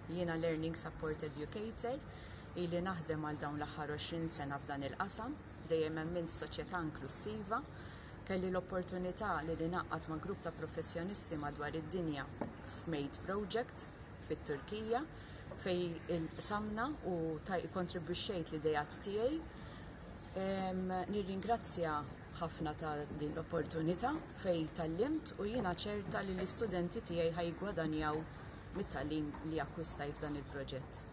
Jiena Learning Support Educator, ili naħdem għal dawn l-aħħar 20 sena f'dan il-qasam, dejjem emmint f'soċjetà inklussiva. Kelli l-opportunità li ningħaqad ma' grupp ta' professjonisti madwar id-dinja f'MADE Project fit-Turkija fejn qsamna u kontribwixxejt l-ideat tiegħi. Nirringrazzja ħafna ta' din l-opportunità fejn tgħallimt u jiena ċerta li l-istudenti tiegħi ħa jiggwadanjaw mit-tagħlim li akkwistajt f'dan il-proġett.